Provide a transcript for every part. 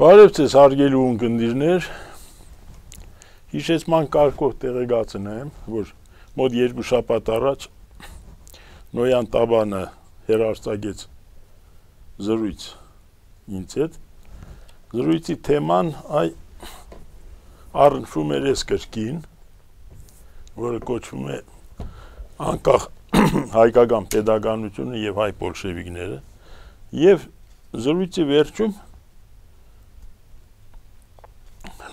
Բարև ձեզ հարգելի ունկնդիրներ, հիշեցման կարգով տեղեկացնեմ, որ մոտ 2 շաբաթ առաջ Նոյան Տաբանը հեռարձակեց զրույց ինձ հետ, զրույցի թեման առնչվում էր այս գրքին, որը կոչվում է անկախ հայկական պետականությունը եւ հայ բոլշևիկները, եւ զրույցի վերջում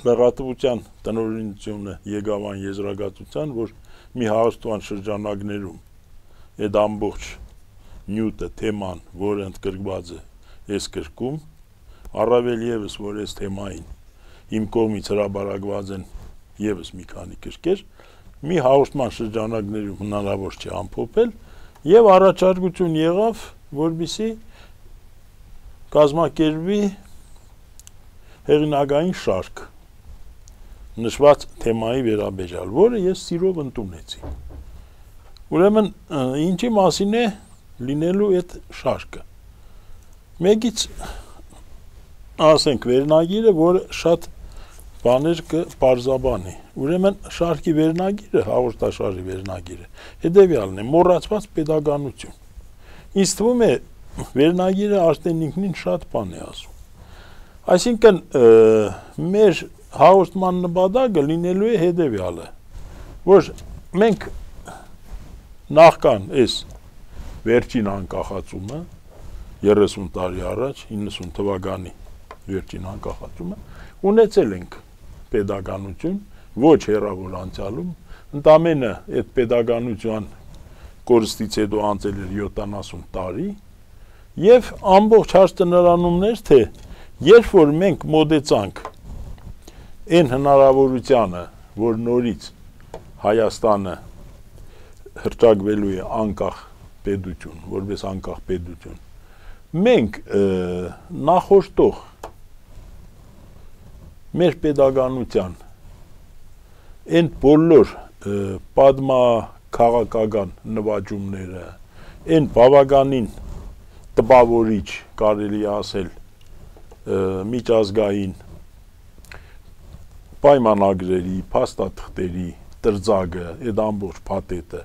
լրատվության տնօրինությունը եկավ այն եզրակացության, որ մի հաղորդման շրջանակներում այդ ամբողջ նյութը, թեման, որը ընդգրկված է այս գրքում, առավել եւս որ այս թեմային իմ կողմից հրաբարակված են եւս մի քանի գրքեր, մի հաղորդման շրջանակներում հնարավոր չէ ամփոփել եւ առաջարկություն եղավ, որպեսզի կազմակերպվի հեղինակային շարք նշված թեմայի վերաբերյալ, որը ես սիրով ընդունեցի։ Ուրեմն ինչի մասին է լինելու այդ շարքը։ Մեկից ասենք վերնագիրը, որը շատ բաներ կպարզաբանի։ Ուրեմն շարքի վերնագիրը, հաղորդաշարի վերնագիրը, հետևյալն է՝ մոռացված պետականություն։ Ինձ թվում է վերնագիրը արդեն ինքնին շատ բան է ասում։ Այսինքն մեր հաղորդման նպատակը լինելու է հետևյալը, որ մենք նախքան այս վերջին անկախացումը 30 տարի առաջ 90 թվականի վերջին անկախացումը ունեցել ենք պետականություն ոչ հեռավոր անցյալում, ընդամենը այդ պետականության կորստից հետո անցել էր 70 տարի եւ ամբողջ հարցը նրանումն էր, թե երբ որ մենք մոտեցանք այն հնարավորությանը, որ նորից Հայաստանը հռչակվելու է անկախ պետություն, որպես անկախ պետություն, մենք նախորդող մեր պետականության այն բոլոր պատմաքաղաքական նվաճումները, այն բավականին տպավորիչ, կարելի է ասել, միջազգային պայմանագրերի, փաստաթղթերի տրձագը, այդ ամբողջ փաթեթը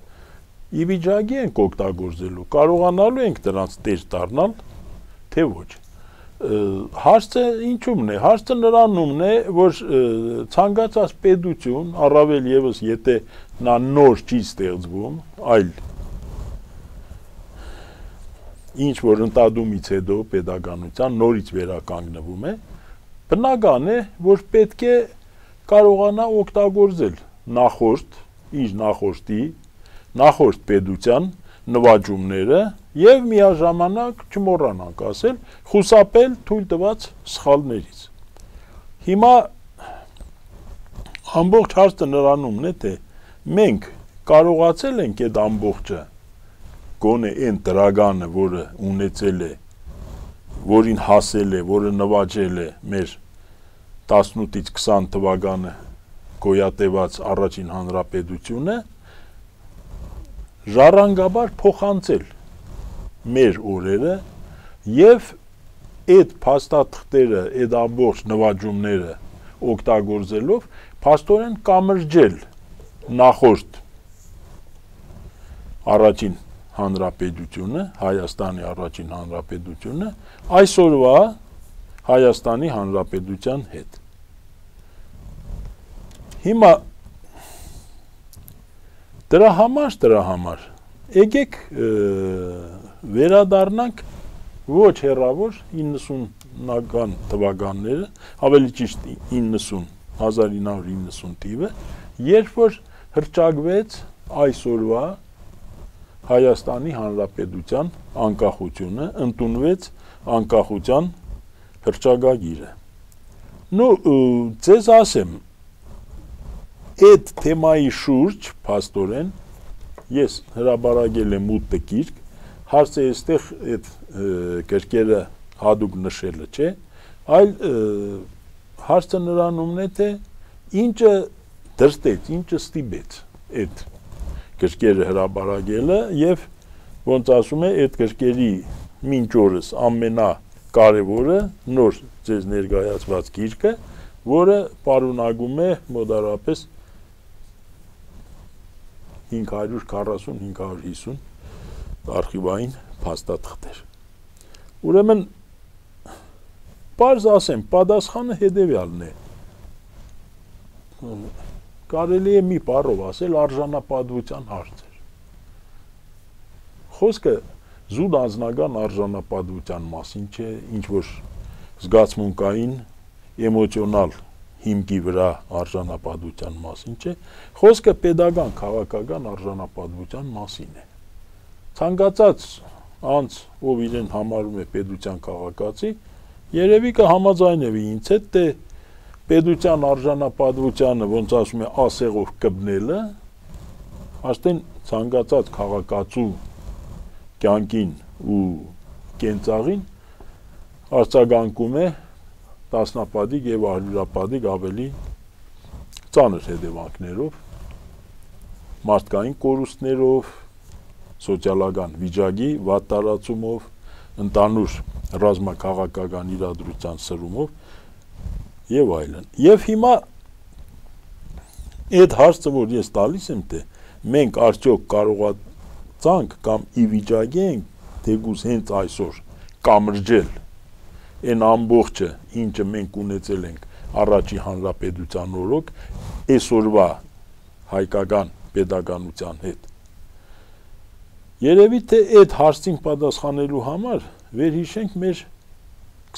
ի վիճակի ենք օգտագործելու, կարողանալու ենք դրանց տեր դառնալ, թե ոչ։ Հարցը ինչումն է, հարցը նրանումն է, որ ցանկացած պետություն, առավել եւս եթե նա նոր չի ստեղծվում, այլ ինչ որ ընդդումից հետո պետականության նորից վերականգնվում է, բնական է, որ պետք է կարողանա օգտագործել նախորդ պետության նվաճումները եւ միաժամանակ չմոռանանք ասել, խուսափել թույլ տված սխալներից։ Հիմա ամբողջ հարցը նրանումն է, թե մենք կարողացել ենք այդ ամբողջը գոնե այն դրագանը, որը ունեցել է, որին հասել է, որը նվաճել է մեր 18-ից 20 թվականը գոյատևած առաջին հանրապետությունը, ժառանգաբար փոխանցել մեր օրերը եւ այդ փաստաթղթերը, այդ ամբողջ նվաճումները օգտագործելով փաստորեն կամրջել նախորդ առաջին հանրապետությունը, Հայաստանի առաջին հանրապետությունը, այսօրվա Հայաստանի հանրապետության հետ։ Հիմա դրա համար եկեք վերադառնանք ոչ հեռավոր 90-ական թվականները, ավելի ճիշտ 1990 թիվը, երբ որ հռչակվեց այսօրվա Հայաստանի հանրապետության անկախությունը, ընդունվեց անկախության հռչակագիրը։ Ձեզ ասեմ, այդ թեմայի շուրջ փաստորեն ես հրաբարակել եմ 8 գիրք, հարցը այստեղ այդ գրքերը հատուկ նշելը չէ, այլ հարցը նրանումն է, թե ինչը դրտեց, ինչը ստիպեց այդ գրքերը հրաբարակելը եւ ոնց ասում է, այդ գրքերի մինչ օրս կարևորը նոր ձեզ ներկայացված գիրքը, որը պարունակում է մոտարապես 540-550 արխիվային փաստաթղթեր։ Ուրեմն պարզ ասեմ, պատասխանը հետևյալն է։ Կարելի է մի բառով ասել արժանապատվության հարցեր։ Խոսքը զուտ անձնական արժանապատվության մասին չէ, ինչ որ զգացմունքային, էմոցիոնալ հիմքի վրա արժանապատվության մասին չէ, խոսքը պետական քաղաքական արժանապատվության մասին է։ Ցանկացած անձ, ով իրեն համարում է պետության քաղաքացի, երևի կհամաձայնվի ինձ հետ, թե պետության արժանապատվությանը, ոնց ասում է, ասեղով կպնելը, արդեն ցանկացած քաղաքացու կյանքին ու կենցաղին արձագանքում է տասնապատիկ եւ արյուրապատիկ ավելի ծանր հետևանքներով, մարդկային կորուստներով, սոցիալական վիճակի վատ տարածումով, ընդանուր ռազմաքաղաքական իրադրության սրումով եւ այլն։ Եվ հիմա այդ հարցը, որ ես տալիս եմ, թե մենք արդյոք կարողացանք կամ ի վիճակի ենք թեկուզ հենց այսօր կամրջել այն ամբողջը, ինչը մենք ունեցել ենք առաջի հանրապետության օրոք, այսօրվա հայկական պետականության հետ։ Երևի թե այդ հարցին պատասխանելու համար վերհիշենք մեր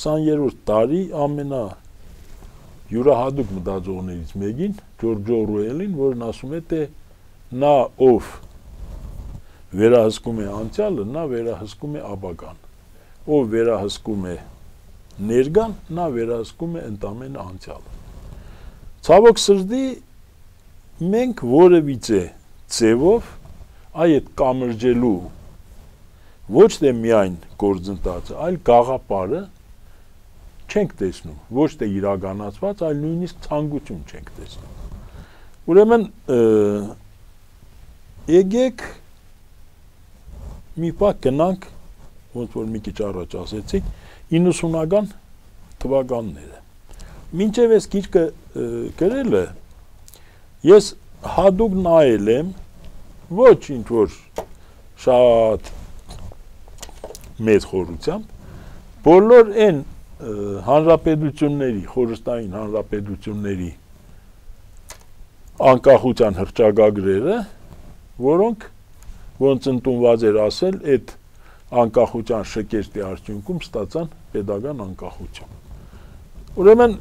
20-րդ դարի ամենայուրահատուկ մտածողներից մեկին, Ջորջ Օրուելին, որն ասում է, թե նա ով վերահսկում է անցյալը, նա վերահսկում է ապագան, ով վերահսկում է ներկան, նա վերահսկում է ընդամենը անցյալը։ Ցավոք սրտի մենք որևիցե ձևով այդ կամրջելու ոչ թե միայն գործընթացը, այլ գաղափարը չենք տեսնում, ոչ թե իրականացված, այլ նույնիսկ ցանկություն չենք տեսնում։ Ուրեմն եկեք մի պահ գնանք, ոնց որ մի քիչ առաջ ասեցիք, 90-ական թվականները։ Մինչև այս գիրքը գրելը ես հատուկ նայել եմ ոչ ինչ որ շատ մեծ խորությամբ բոլոր այն հանրապետությունների, խորհրդային հանրապետությունների անկախության հռչակագրերը, որոնք ոնց ընդունված էր ասել, այդ անկախության շքերթի արդյունքում ստացան պետական անկախություն։ Ուրեմն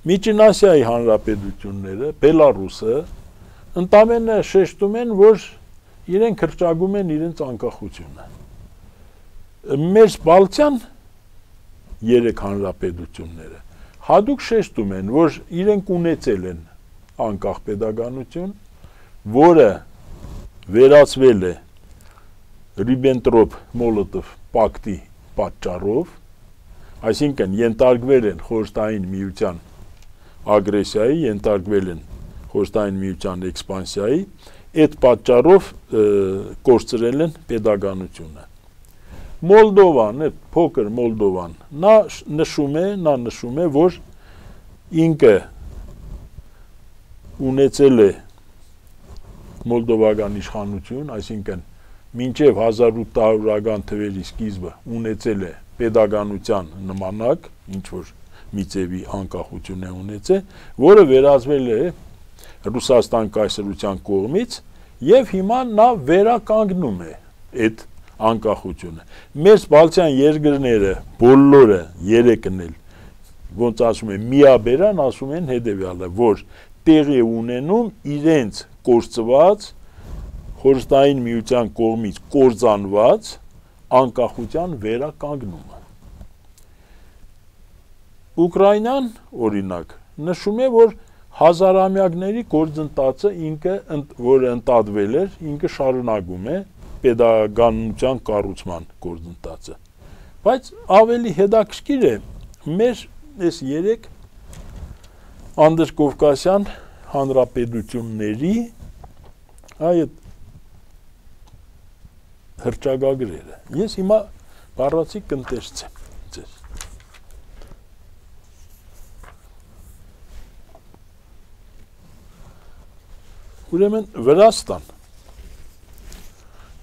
Միջին Ասիայի հանրապետությունները, Բելարուսը ընդամենը շեշտում են, որ իրենք հռչակում են իրենց անկախությունը։ Մեր Բալթյան 3 հանրապետությունները հատուկ շեշտում են, որ իրենք ունեցել են անկախ պետականություն, որը վերածվել է Ռիբենտրոպ-Մոլոտով պակտի պատճառով, այսինքն ենթարկվել են խորհրդային միության ագրեսիայի, ենթարկվել են խորհրդային միության էքսպանսիայի, այդ պատճառով կորցրել են պետականությունը։ Մոլդովան, փոքր Մոլդովան, նա նշում է, որ ինքը ունեցել է մոլդովական իշխանություն, այսինքն մինչև 1800-ական թվերի սկիզբը ունեցել է պետականության նմանակ, ինչ որ մի ձևի անկախություն է ունեցել, որը վերածվել է Ռուսաստան կայսրության կողմից եւ հիմա նա վերականգնում է այդ անկախությունը։ Մեր Բալթյան երկրները բոլորը 3-ն էլ ոնց ասում են միաբերան ասում են հետեւյալը, որ տեղի ունենում իրենց կորցված խորհրդային միության կողմից կործանված անկախության վերականգնումը։ Ուկրաինան, օրինակ, նշում է, որ հազարամյակների գործընթացը ինքը, որը ընդատվել էր, ինքը շարունակում է պետականության կառուցման գործընթացը։ Բայց ավելի հետաքրքիր է մեր այս 3 անդրկովկասյան հանրապետությունների այդ հռչակագրերը։ Ես հիմա բառացի կընտեսցեմ ձեզ։ Ուրեմն Վրաստան,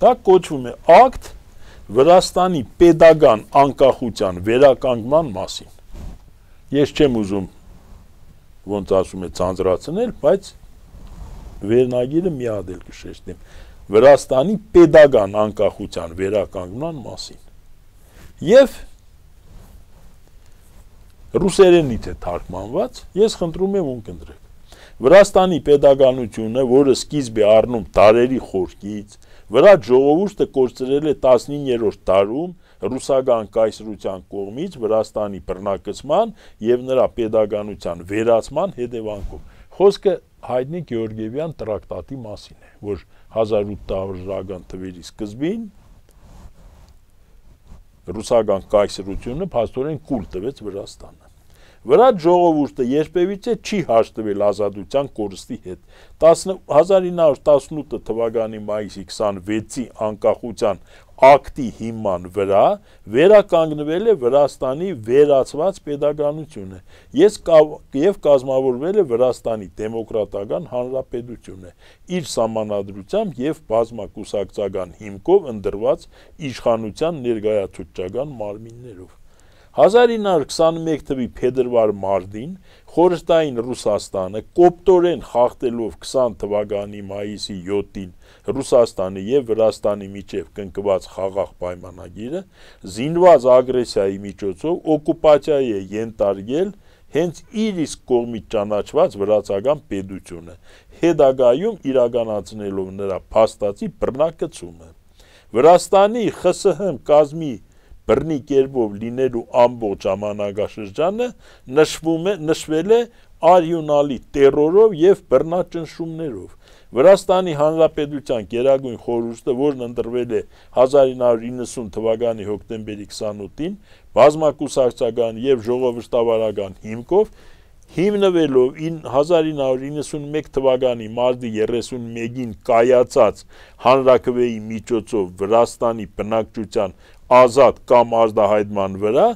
դա կոչվում է ակտ Վրաստանի պետական անկախության վերականգնման մասին։ Ես չեմ ուզում ոնց ասում է ցանցրացնել, բայց վերնագիրը մի հատ էլ կշեշտեմ։ Վրաստանի պետական անկախության վերականգնման մասին։ Եվ ռուսերենից է թարգմանված, ես խնդրում եմ ունկնդրեք։ Վրաստանի պետականությունը, որը սկիզբ է առնում դարերի խորքից, վրա ժողովուրդը կորցրել է 19-րդ դարում ռուսական կայսրության կողմից Վրաստանի բռնակցման եւ նրա պետականության վերացման հետևանքով։ Խոսքը հայտնի Գեորգիևյան տրակտատի մասին է, որ 1800-ական թվերի սկզբին ռուսական կայսրությունը փաստորեն կուլ տվեց Վրաստանը։ Վրա ժողովուրդը երբևիցե չի հաշտվել ազատության կորստի հետ։ 1918 թվականի մայիսի 26-ի անկախության ակտի հիման վրա վերականգնվել է Վրաստանի վերացված պետականությունը եւ կազմավորվել է Վրաստանի դեմոկրատական հանրապետությունը իր սահմանադրությամբ եւ բազմակուսակցական հիմքով ընդրված իշխանության ներկայացուցչական մարմիններով։ 1921 թվականի փետրվար մարտին խորհրդային Ռուսաստանը կոպտորեն խախտելով 20 թվականի մայիսի 7-ին Ռուսաստանի եւ Վրաստանի միջև կնքված խաղաղ պայմանագիրը զինված ագրեսիայի միջոցով օկուպացիայի է ենթարկել հենց իր իսկ կողմից ճանաչված վրացական պետությունը, հետագայում իրականացնելով նրա փաստացի բռնակցումը։ Վրաստանի ԽՍՀՄ կազմի բռնի կերպով լինելու ամբողջ ժամանակաշրջանը նշվել է արյունալի տերորով եւ բռնաճնշումներով։ Վրաստանի Հանրապետության Գերագույն խորհուրդը, որն ընտրվել է 1990 թվականի հոկտեմբերի 28-ին, բազմակուսակցական եւ ժողովրդավարական հիմքով հիմնվելով 1991 թվականի մարտի 31-ին կայացած հանրաքվեի միջոցով Վրաստանի բնակչության ազատ կամ ազդահայտման վրա,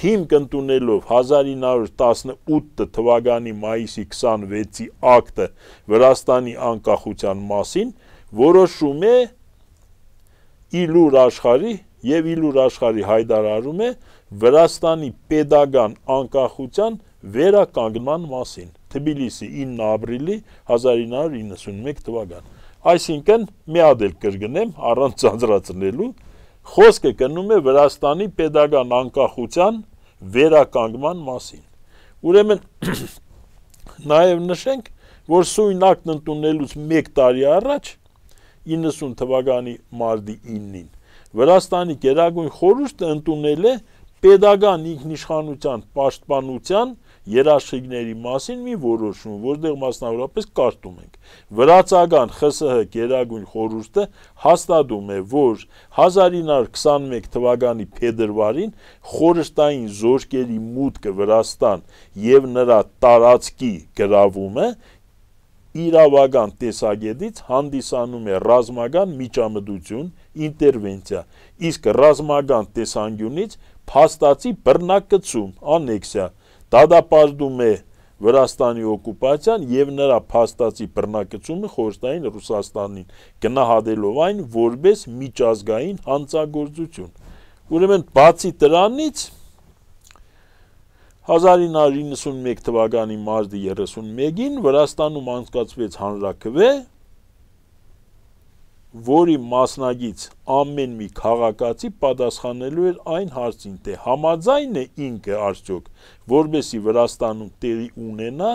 հիմք ընդունելով 1918 թվականի մայիսի 26-ի ակտը Վրաստանի անկախության մասին, որոշում է իլուր աշխարհի հայտարարում է Վրաստանի պետական անկախության վերականգնման մասին, Թբիլիսի 9 ապրիլի 1991 թվական։ Այսինքն, մի հատ էլ կրկնեմ, առանց ցածրացնելու, խոսքը գնում է Վրաստանի պետական անկախության վերականգնման մասին։ Ուրեմն, նաև նշենք, որ սույն ակտն ընդունելուց 1 տարի առաջ, 90 թվականի մարտի 9-ին, Վրաստանի Գերագույն խորհուրդը ընդունել է պետական ինքնիշխանության պաշտպանության երաշխիքների մասին մի որոշում, որտեղ մասնավորապես կարդում ենք. Վրացական ԽՍՀ Գերագույն խորհուրդը հաստատում է, որ 1921 թվականի փետրվարին խորհրդային զորքերի մուտքը Վրաստան եւ նրա տարածքի գրավումը իրավական տեսակետից հանդիսանում է ռազմական միջամտություն, ինտերվենցիա, իսկ ռազմական տեսանկյունից փաստացի բռնակցում, անեքսիա, դատապարտում է Վրաստանի օկուպացիան եւ նրա փաստացի բռնակցումը խորհրդային Ռուսաստանին, գնահատելով այն որպես միջազգային հանցագործություն։ Ուրեմն բացի դրանից 1991 թվականի մարտի 31-ին Վրաստանում անցկացվեց հանրաքվե, որի մասնակից ամեն մի քաղաքացի պատասխանելու էր այն հարցին, թե համաձայն է ինքը արդյոք, որբեսի Վրաստանում տեղի ունենա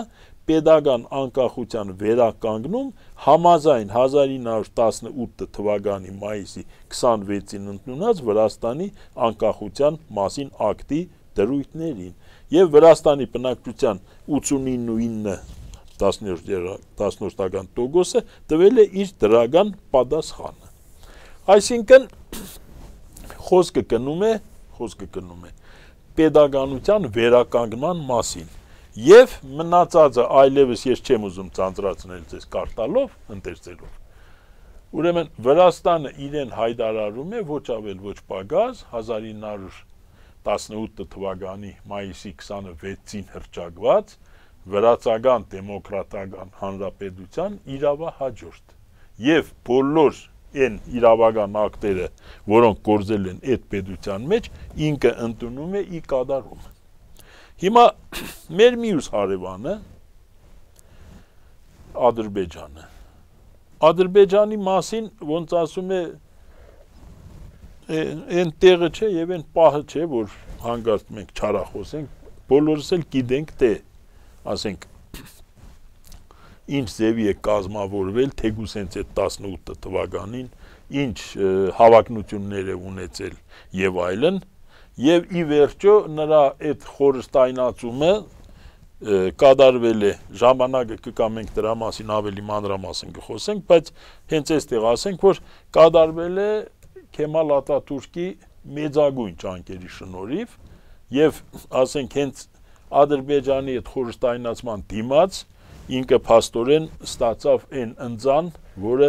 պետական անկախության վերականգնում համաձայն 1918 թվականի մայիսի 26-ին ընդունած Վրաստանի անկախության մասին ակտի դրույթներին եւ Վրաստանի բնակչության 89.10% տվել է իր դրական պատասխանը։ Այսինքն խոսքը գնում է պետականության վերականգնման մասին եւ մնացածը այլևս ես չեմ ուզում ցանցրացնել ձեզ կարտալով, ընթերցելով։ Ուրեմն Վրաստանը իրեն հայտարարում է ոչ ավել ոչ պակաս 1918 թվականի մայիսի 26-ին հռչակված Վրացական դեմոկրատական հանրապետության իրավահաջորդ եւ բոլոր այն իրավական ակտերը, որոնք գործել են այդ պետության մեջ, ինքը ընդունում է ի կատարում։ Հիմա մեր մյուս հարևանը Ադրբեջանը։ Ադրբեջանի մասին ոնց ասում է այն տեղը չէ եւ այն պահը չէ, որ հանգարտ մենք չարախոսենք, բոլորս էլ գիտենք, թե ասենք ինչ ձևի է կազմավորվել թեկուզ հենց այդ 18 թվականին, ինչ հավակնություններ է ունեցել եւ այլն, եւ ի վերջո նրա այդ խորհրդայնացումը կատարվել է ժամանակը կգա մենք դրա մասին ավելի մանրամասն կխոսենք, բայց հենց այստեղ ասենք, որ կատարվել է Քեմալ Աթաթուրքի մեծագույն ջանքերի շնորհիվ եւ ասենք հենց Ադրբեջանի այդ խորհրդայնացման դիմաց ինքը փաստորեն ստացավ այն ընձան, որը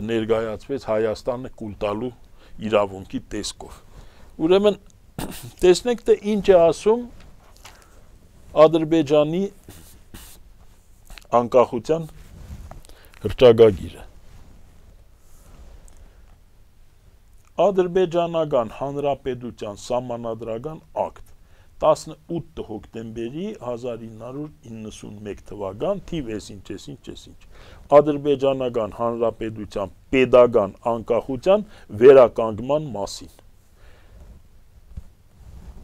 ներկայացվեց Հայաստանը կուլ տալու իրավունքի տեսքով։ Ուրեմն տեսնենք թե ինչ է ասում Ադրբեջանի անկախության հռչակագիրը։ Ադրբեջանական հանրապետության սահմանադրական ակտ 18 հոկտեմբերի 1991 թվական թիվ ինչ Ադրբեջանական հանրապետության պետական անկախության վերականգնման մասին։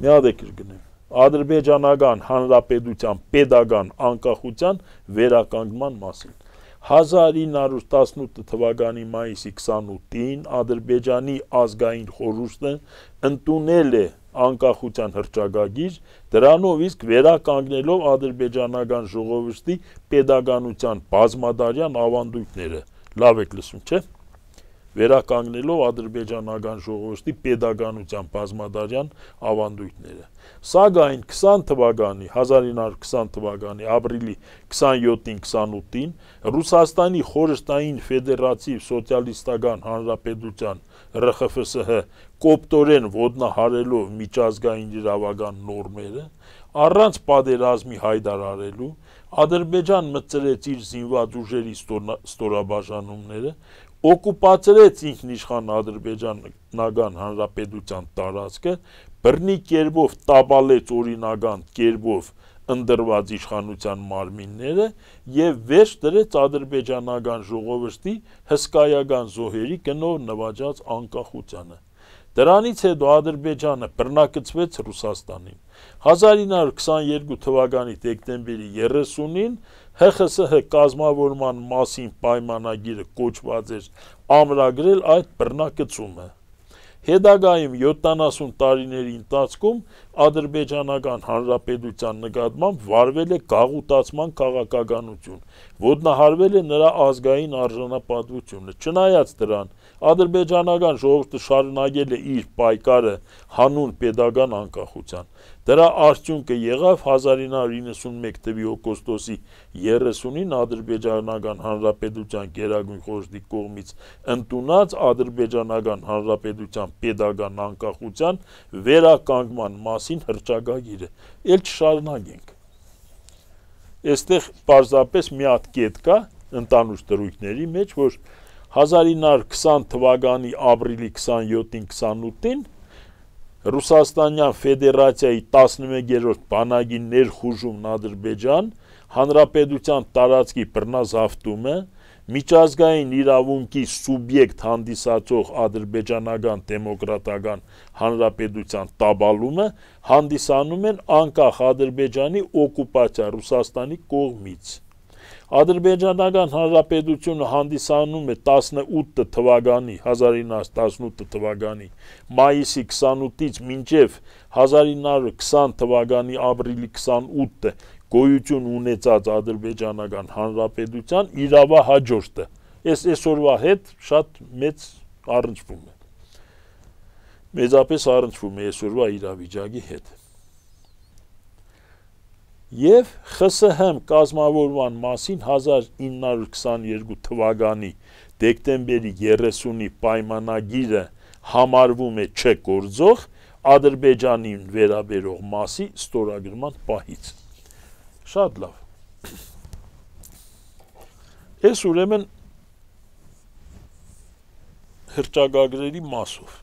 Միադեք կգնեմ։ Ադրբեջանական հանրապետության պետական անկախության վերականգնման մասին։ 1918 թվականի մայիսի 28-ին Ադրբեջանի ազգային խորհուրդը ընդունել է անկախության հռչակագիր, դրանով իսկ վերականգնելով ադրբեջանական ժողովրդի պետականության բազմադարյան ավանդույթները։ Լավ եք լսում, չէ՞։ Վերականգնելով ադրբեջանական ժողովրդի պետականության բազմադարյան ավանդույթները։ Սակայն 1920 թվականի ապրիլի 27-ին 28-ին Ռուսաստանի խորհրդային ֆեդերատիվ սոցիալիստական հանրապետության ՌԽՖՍՀ կոպտորեն ոտնահարելով միջազգային իրավական նորմերը, առանց պատերազմի հայտարարելու, Ադրբեջան մտցրեց իր զինված ուժերի ստորաբաժանումները, օկուպացրեց ինքնիշխան Ադրբեջանական հանրապետության տարածքը, բռնի կերպով տապալեց օրինական կերպով ընդրված իշխանության մարմինները եւ վերջ դրեց ադրբեջանական ժողովրդի հսկայական զոհերի գնով նվաճած անկախությանը։ Դրանից հետո Ադրբեջանը բռնակցվեց Ռուսաստանին։ 1922 թվականի դեկտեմբերի 30-ին ՀԽՍՀ կազմավորման մասին պայմանագիրը կոչված էր ամրագրել այդ բռնակցումը։ Հետագայում 70 տարիների ընթացքում Ադրբեջանական հանրապետության նկատմամբ վարվել է գաղութացման քաղաքականություն, ոտնահարվել է նրա ազգային արժանապատվությունը։ Չնայած դրան, ադրբեջանական ժողովուրդը շարունակել է իր պայքարը հանուն պետական անկախության։ Դրա արդյունքը եղավ 1991 թվականի օգոստոսի 30-ին Ադրբեջանական հանրապետության գերագույն խորհրդի կողմից ընդունած Ադրբեջանական հանրապետության պետական անկախության վերականգնման մասին հռչակագիրը։ Էլ չշարունակենք։ Այստեղ պարզապես մի հատ կետ կա ընդանուր դրույթների մեջ, որ 1920 թվականի ապրիլի 27-ին 28-ին Ռուսաստանյան Ֆեդերացիայի 11-րդ բանակի ներխուժումն Ադրբեջան, հանրապետության տարածքի բռնազավթումը, միջազգային իրավունքի սուբյեկտ հանդիսացող Ադրբեջանական դեմոկրատական հանրապետության տապալումը հանդիսանում են անկախ Ադրբեջանի օկուպացիա Ռուսաստանի կողմից։ Ադրբեջանական հանրապետությունը հանդիսանում է 1918 թվականի մայիսի 28-ից մինչև 1920 թվականի ապրիլի 28-ը գոյություն ունեցած Ադրբեջանական հանրապետության իրավահաջորդը։ Այսօրվա հետ շատ մեծ առնչվում է։ Մեծապես առնչվում է այսօրվա իրավիճակի հետ։ Եվ ԽՍՀՄ կազմավորման մասին 1922 թվականի դեկտեմբերի 30-ի պայմանագիրը համարվում է չգործող Ադրբեջանին վերաբերող մասի ստորագրման պահից։ Շատ լավ։ Ես ուրեմն հրճագագրերի մասով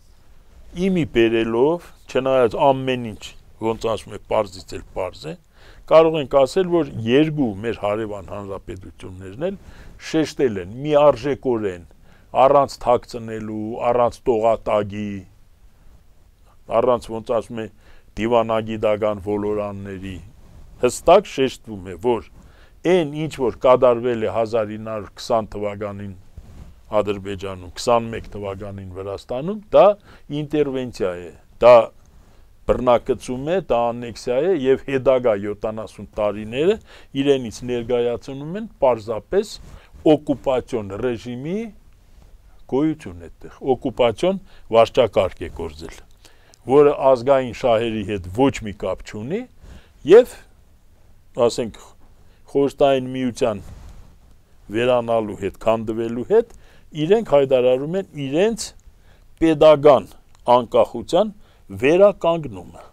իմի բերելով, չնայած ամեն ինչ ոնց ասում է պարզից էլ պարզ է, կարող ենք ասել, որ երկու մեր հարևան հանրապետություններն էլ շեշտել են միարժեքորեն, առանց թաքցնելու, առանց տողատագի, առանց ոնց ասում է դիվանագիտական ոլորանների, հստակ շեշտվում է, որ այն ինչ որ կատարվել է 1920 թվականին Ադրբեջանում, 21 թվականին Վրաստանում, դա ինտերվենցիա է, դա բռնակցում է, դա անեքսիա է եւ հետագա 70 տարիները իրենից ներկայացնում են պարզապես օկուպացիոն ռեժիմի գոյություն այդտեղ, օկուպացիոն վարչակարգ է գործել, որը ազգային շահերի հետ ոչ մի կապ չունի եւ ասենք խորհրդային միության վերանալու հետ, քանդվելու հետ իրենք հայտարարում են իրենց պետական անկախության վերականգնումը։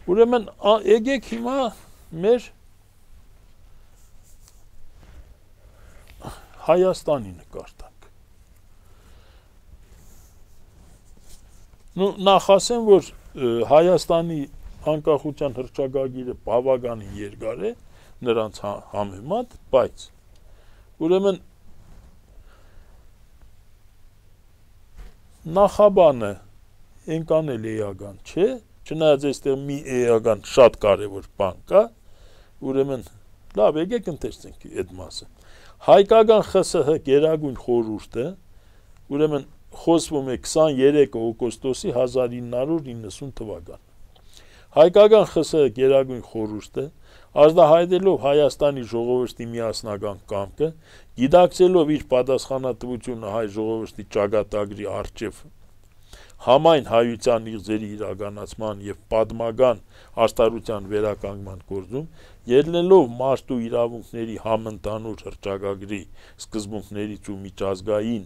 Ուրեմն եկեք հիմա մեր Հայաստանի նկար տանք։ Նախ ասեմ, որ Հայաստանի անկախության հռչակագիրը բավականին երկար է նրանց համեմատ, բայց ուրեմն նախաբանը այնքան էլ էական չէ, չնայած այստեղ մի էական շատ կարևոր բան կա, ուրեմն լավ, եկեք ընթերցենք այդ մասը։ Հայկական ԽՍՀ գերագույն խորհուրդը, ուրեմն խոսվում է 23 օգոստոսի 1990 թվական։ Հայկական ԽՍՀ գերագույն խորհուրդը ազդահայտելով Հայաստանի ժողովրդի միասնական կամքը, գիտակցելով իր պատասխանատվությունը հայ ժողովրդի ճակատագրի առջև համայն հայության իղձերի իրականացման եւ պատմական աշտարության վերականգնման գործում, ելնելով մարդու իրավունքների համընդհանուր հռչակագրի սկզբունքներից ու միջազգային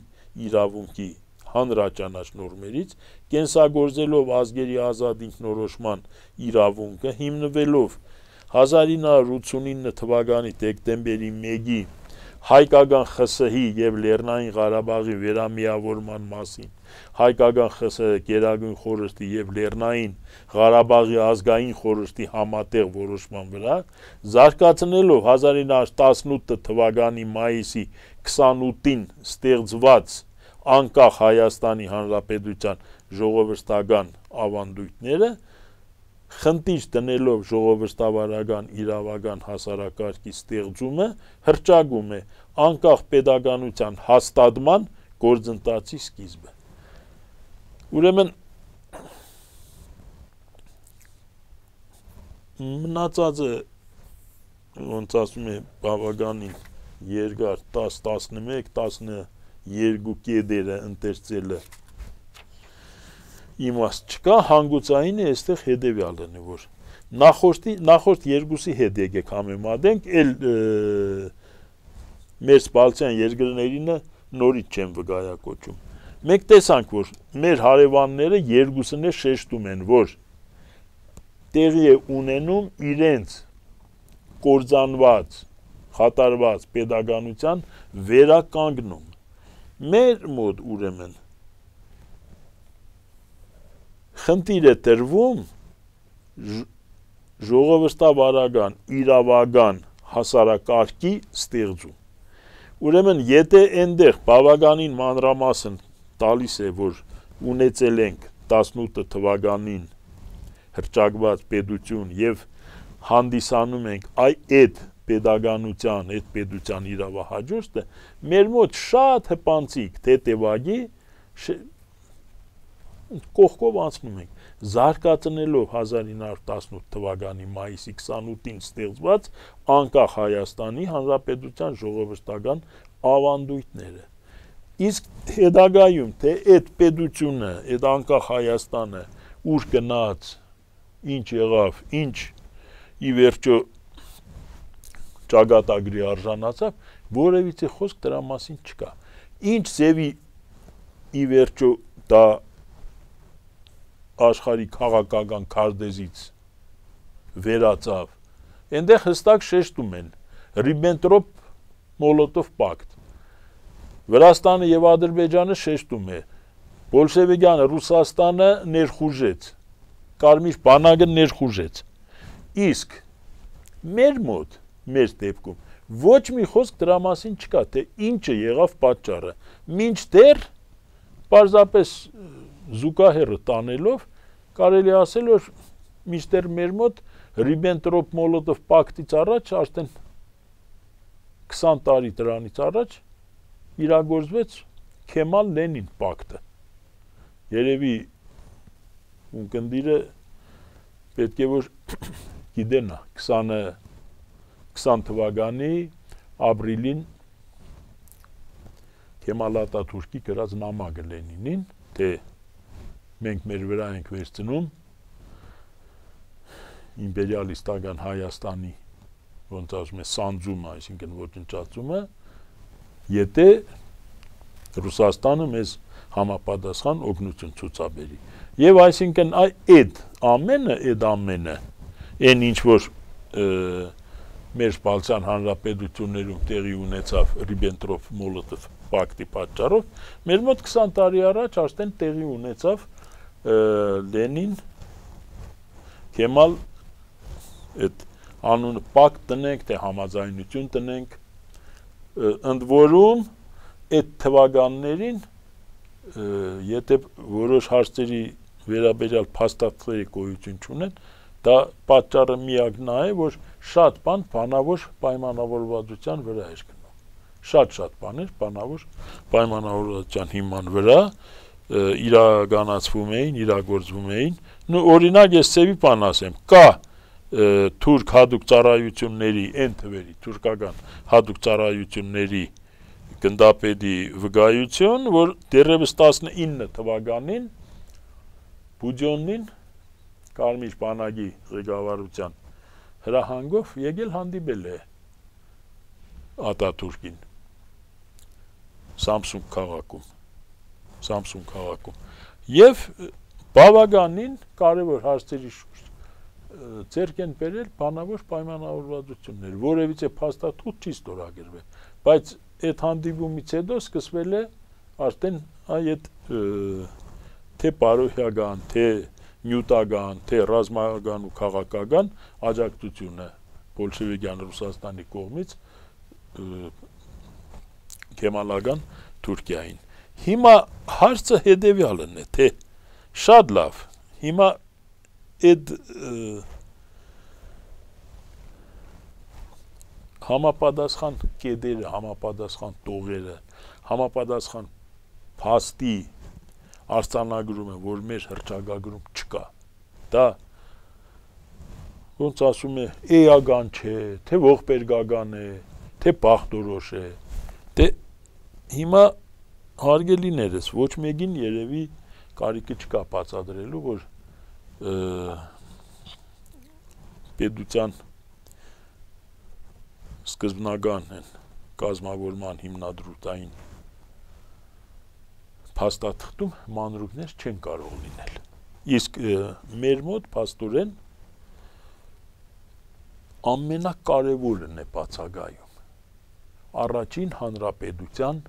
իրավունքի հանրաճանաչ նորմերից, կենսագործելով ազգերի ազատ ինքնորոշման իրավունքը, հիմնվելով 1989 թվականի դեկտեմբերի 1-ի հայկական ԽՍՀ-ի եւ Լեռնային Ղարաբաղի վերամիավորման մասին, հայկական ԽՍՀ գերագույն խորհրդի եւ Լեռնային Ղարաբաղի ազգային խորհրդի համատեղ որոշման վրա, զարգացնելով 1918 թվականի մայիսի 28-ին ստեղծված անկախ Հայաստանի Հանրապետության ժողովրդական ավանդույթները, խնդիր դնելով ժողովրդավարական իրավական հասարակարգի ստեղծումը, հռչակում է անկախ պետականության հաստատման գործընթացի սկիզբը։ Ուրեմն մնացածը ոնց ասում է բավականին երկար 10-11-12 կետերը ընթերցելը իմաստ չկա, հանգուցային է այստեղ հետևյալն է, որ նախորդ երկուսի հետ եկեք համեմատենք, էլ մեր սպալցյան երկրներինը նորից չեմ վկայակոչում։ Մենք տեսանք, որ մեր հարևանները երկուսն է շեշտում են, որ տեղի է ունենում իրենց կործանված, խաթարված պետականության վերականգնում։ Մեր մոտ ուրեմն խնդիր է տրվում ժողովրդավարական, իրավական հասարակարգի ստեղծում։ Ուրեմն եթե այնտեղ բավականին մանրամասն տալիս է, որ ունեցել ենք 18 թվականին հռչակված պետություն եւ հանդիսանում ենք այդ պետականության, այդ պետության իրավահաջորդը, մեր մոտ շատ հպանցիկ թեթևագի կողքով անցնում ենք, զարգացնելով 1918 թվականի մայիսի 28-ին ստեղծված անկախ Հայաստանի Հանրապետության ժողովրդական ավանդույթները։ Իսկ հետագայում թե այդ պետությունը, այդ անկախ Հայաստանը ուր գնաց, ինչ եղավ, ինչ ի վերջո ճակատագրի արժանացավ, որևիցե խոսք դրա մասին չկա։ ինչ ձևի ի վերջո դա աշխարհի քաղաքական քարտեզից վերածավ, այնտեղ հստակ շեշտում են Ռիբենտրոպ-Մոլոտով պակտ։ Վրաստանը եւ Ադրբեջանը շեշտում է բոլշևիկյանը Ռուսաստանը ներխուժեց, Կարմիր բանակը ներխուժեց։ Իսկ մեր մոտ, մեր դեպքում ոչ մի խոսք դրա մասին չկա, թե ինչը եղավ պատճառը։ Մինչդեռ պարզապես զուգահեռը տանելով կարելի ասել որ մինչդեռ մեր մոտ Ռիբենտրոպ-Մոլոտով պակտից առաջ արդեն 20 տարի դրանից առաջ իրագործվեց Քեմալ-Լենին պակտը։ Երևի ունկնդիրը պետք է որ գիտենա 20 թվականի ապրիլին Քեմալ Աթաթուրքի գրած նամակը Լենինին, թե մենք մեր վրա ենք վերցնում իմպերիալիստական Հայաստանի ոնց ասում է սանձումը, այսինքն ոչնչացումը, եթե Ռուսաստանը մեզ համապատասխան օգնություն ցուցաբերի։ Եվ այսինքն այդ ամենը, այն ինչ որ մեր Բալթյան հանրապետություններում տեղի ունեցավ Ռիբենտրոպ-Մոլոտով պակտի պատճառով, մեր մոտ 20 տարի առաջ արդեն տեղի ունեցավ Լենին Քեմալ այդ անունը պակտ տնենք, թե համաձայնություն տնենք, ընդ որում այդ թվականներին եթե որոշ հարցերի վերաբերյալ փաստաթղթերի գոյություն չունեն, դա պատճառը միակն է, որ շատ բան բանավոր պայմանավորվածության վրա էր գնում։ Շատ բաներ բանավոր պայմանավորվածության հիման վրա իրականացվում էին, իրագործվում էին։ Օրինակ ես ծեվի բան ասեմ, կա թուրք հատուկ ծառայությունների, այն թվերի, թուրքական հատուկ ծառայությունների գնդապետի վկայություն, որ դեռևս 19 թվականին Բուջոնին Կարմիր բանակի ղեկավարության հրահանգով եկել հանդիպել է Աթաթուրքին Սամսուն քաղաքում եւ բավականին կարևոր հարցերի շուրջ ձեռք են բերել բանավոր պայմանավորվածություններ, որևիցե փաստաթուղթ չի ստորագրվել, բայց այդ հանդիպումից հետո սկսվել է արդեն այդ թե բարոյական, թե նյութական, թե ռազմական ու քաղաքական աջակցությունը բոլշևիկյան Ռուսաստանի կողմից Քեմալական Թուրքիային։ Հիմա հարցը հետևյալն է, թե շատ լավ, հիմա այդ համապատասխան կետերը, համապատասխան տողերը, համապատասխան փաստի արձանագրումը, որ մեր հռչակագրում չկա, դա ոնց ասում է, էական չէ, թե ողբերգական է, թե բախտորոշ է, թե հիմա հարգելիներս, ոչ մեկին երևի կարիքը չկա բացատրելու, որ պետության սկզբնական կազմավորման հիմնադրութային փաստաթղթում մանրուքներ չեն կարող լինել։ Իսկ մեր մոտ փաստորեն ամենակարևորն է բացակայում առաջին հանրապետության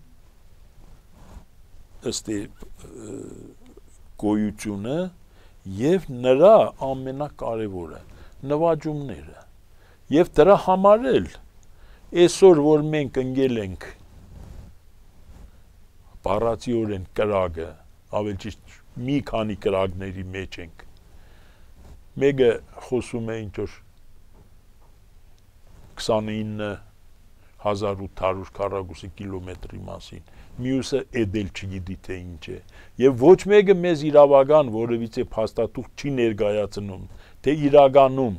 ըստ գոյությունը եւ նրա ամենակարևորը նվաճումները եւ դրա համար էլ այսօր որ մենք ընկել ենք բառացիորեն կրակը, ավելի ճիշտ մի քանի կրակների մեջ ենք, մեկը խոսում է ինչ որ 29,800 քառակուսի կիլոմետրի մասին, մյուսը էդել չգիտի թե ինչ է, եւ ոչ մեկը մեզ իրավական որևիցե փաստաթուղթ չի ներկայացնում, թե իրականում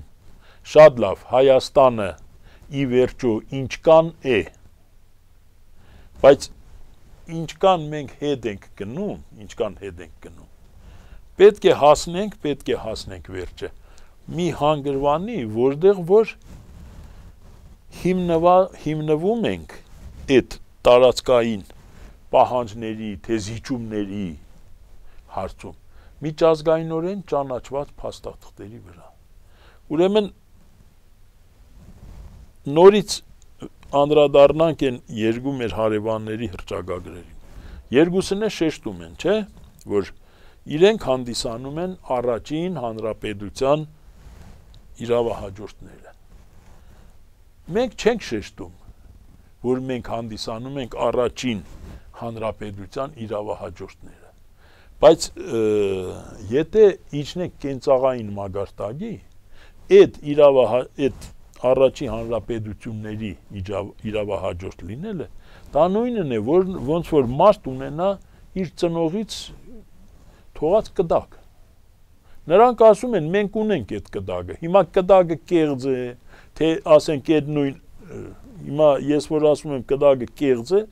շատ լավ Հայաստանը ի վերջո ինչքան է, բայց ինչքան մենք հետ ենք գնում, պետք է հասնենք վերջը, մի հանգրվանի, որտեղ որ հիմնվում ենք այդ տարածքային պահանջների, թե զիջումների հարցում միջազգայինորեն ճանաչված փաստաթղթերի վրա։ Ուրեմն նորից անդրադառնանք են երկու մեր հարևանների հռչակագրերին։ Երկուսն է շեշտում են, չէ՞, որ իրենք հանդիսանում են առաջին հանրապետության իրավահաջորդները։ Մենք չենք շեշտում, որ մենք հանդիսանում ենք առաջին հանրապետության իրավահաջորդները։ Բայց եթե իջնենք կենցաղային մագարտակի, այդ առաջին հանրապետությունների իրավահաջորդ լինելը, դա նույնն է, որ ոնց որ մարդ ունենա իր ծնողից թողած կդակ։ Նրանք ասում են, մենք ունենք այդ կդակը, հիմա կդակը կեղծ է, թե ասենք այդ նույն, հիմա ես որ ասում եմ կդակը կեղծ է,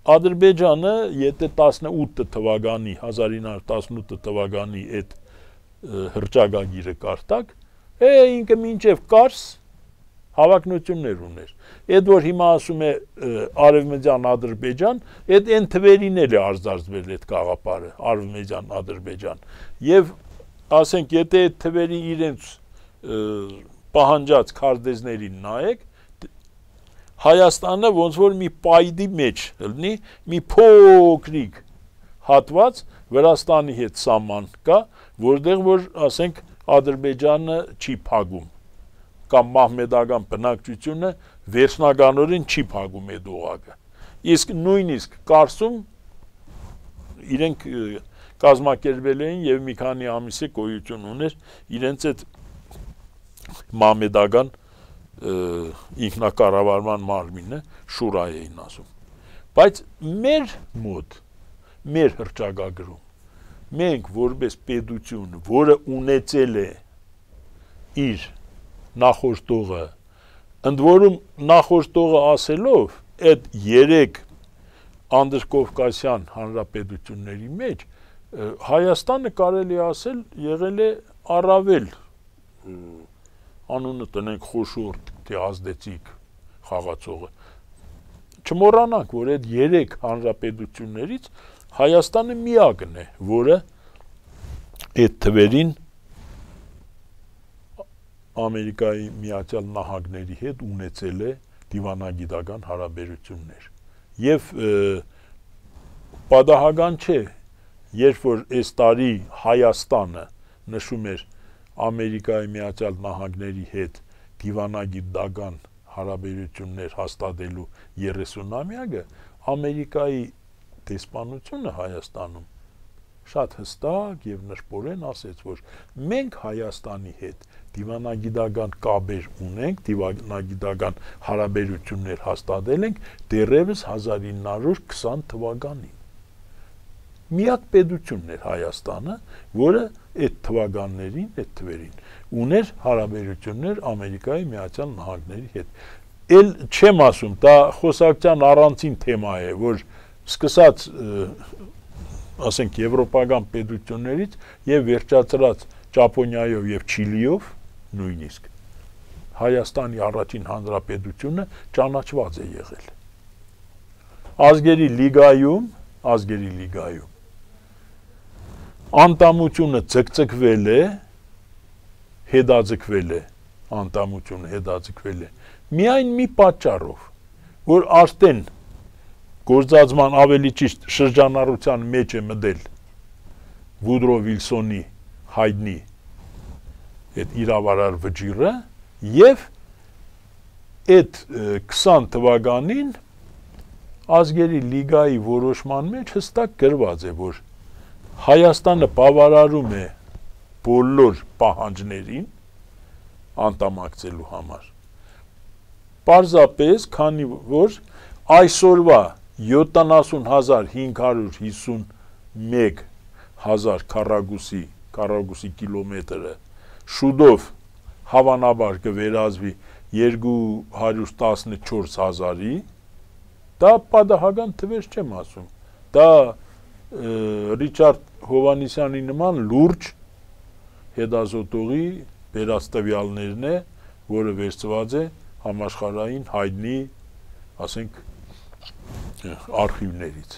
Ադրբեջանը, եթե 18 թվականի, 1918 թվականի այդ հռչակագիրը կարտակ, ինքը մինչև կարս հավակնություններ ուներ։ Այդ որ հիմա ասում է Արևմտյան Ադրբեջան, այդ այն թվերին էլ է արձարծվել այդ գաղափարը, Արևմտյան Ադրբեջան։ Եվ ասենք, եթե այդ թվերի իրենց պահանջած քարտեզներին նայեք, Հայաստանը ոնց որ մի պայդի մեջ լինի, մի փոքրիկ հատված Վրաստանի հետ սահման կա, որտեղ որ ասենք Ադրբեջանը չի փակում, կամ մահմեդական բնակչությունը վերջնականորեն չի փակում այդ օղակը։ Իսկ նույնիսկ Կարսում իրենք կազմակերպել էին եւ մի քանի ամիս է գոյություն ուներ իրենց այդ մահմեդական ինքնակառավարման մարմինը շուրա էին ասում։ Բայց մեր մոտ, մեր հռչակագրում մենք որպես պետություն, որը ունեցել է իր նախորդողը, ընդ որում նախորդողը ասելով, այդ 3 անդրկովկասյան հանրապետությունների մեջ Հայաստանը կարելի ասել եղել է առավել անունը տնենք խոշոր, թե ազդեցիկ խաղացողը։ Չմոռանանք, որ այդ 3 հանրապետություններից Հայաստանը միակն է, որը այդ թվերին Ամերիկայի Միացյալ Նահանգների հետ ունեցել է դիվանագիտական հարաբերություններ։ Եվ պատահական չէ, երբ որ այս տարի Հայաստանը նշում էր Ամերիկայի Միացյալ Նահանգների հետ դիվանագիտական հարաբերություններ հաստատելու 30-ամյակը, Ամերիկայի դեսպանությունը Հայաստանում շատ հստակ եւ նշպորեն ասեց, որ մենք Հայաստանի հետ դիվանագիտական կապեր ունենք, դիվանագիտական հարաբերություններ հաստատել ենք դեռևս 1920 թվականին։ Միակ պետությունն էր Հայաստանը, որը այդ թվականներին, այդ թվերին ուներ հարաբերություններ Ամերիկայի Միացյալ Նահանգների հետ։ Էլ չեմ ասում, դա խոսակցության առանցին թեմա է, որ սկսած ասենք եվրոպական պետություններից եւ վերջացրած Ճապոնիայով եւ Չիլիով նույնիսկ Հայաստանի առաջին հանրապետությունը ճանաչված է եղել։ Ազգերի լիգայում անդամությունը ձգձգվել է, հետաձգվել է, անդամությունը հետաձգվել է, միայն մի պատճառով, որ արդեն գործածման ավելի ճիշտ շրջանառության մեջ է մտել Վուդրո Վիլսոնի հայտնի այդ իրավարար վճիռը եւ այդ 20 թվականին ազգերի լիգայի որոշման մեջ հստակ գրված է, որ Հայաստանը բավարարում է բոլոր պահանջներին անդամակցելու համար։ Պարզապես, քանի որ այսօրվա 70,551 հազար քառակուսի կիլոմետրը շուտով հավանաբար կվերածվի 214,000-ի, դա պատահական թվեր չեմ ասում, դա Ռիչարդ Հովանեսյանի նման լուրջ հետազոտողի բերած տվյալներն է, որը վերցված է համաշխարհային հայտնի, ասենք, արխիվներից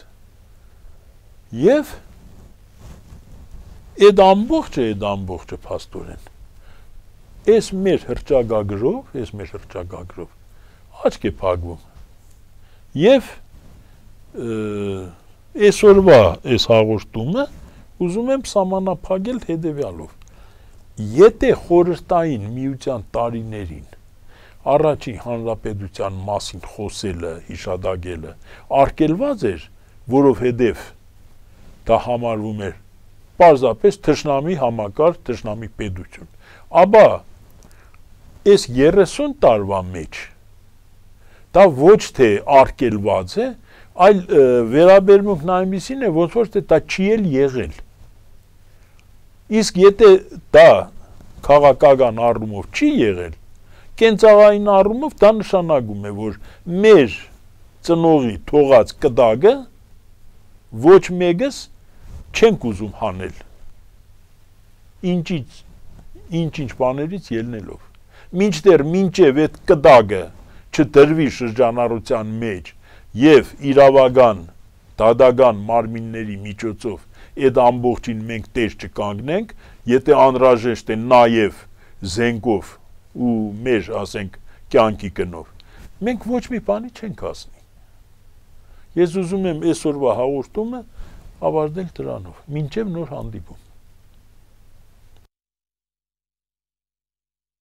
եւ այդ ամբողջը փաստորեն այս մեր հրճագագրով աչք է փակվում եւ այսօրվա այս հաղորդումը ուզում եմ սահմանափակել հետեւյալով եթե խորհրդային միության տարիներին առաջին հանրապետության մասին խոսելը հիշադակելը արգելված էր որովհետեւ դա համարվում էր պարզապես թշնամի համակարգ թշնամի պետություն ապա այս 30 տարվա մեջ դա ոչ թե արգելված է այլ վերաբերմունքն այնպիսին է ոնց որ դա չի էլ եղել իսկ եթե դա քաղաքական առումով չի եղել կենցաղային առումով դա նշանակում է որ մեր ծնողի թողած կդակը ոչ մեկս չենք ուզում հանել ինչ բաներից ելնելով մինչև այդ կդակը չդրվի շրջանառության մեջ եւ իրավական դատական մարմինների միջոցով այդ ամբողջին մենք տեր չկանգնենք եթե անհրաժեշտ է նաեւ զենքով ու մեր ասենք կյանքի գնով մենք ոչ մի բանի չենք հասնի ես ուզում եմ այսօրվա հաղորդումը ավարտել դրանով մինչև նոր հանդիպում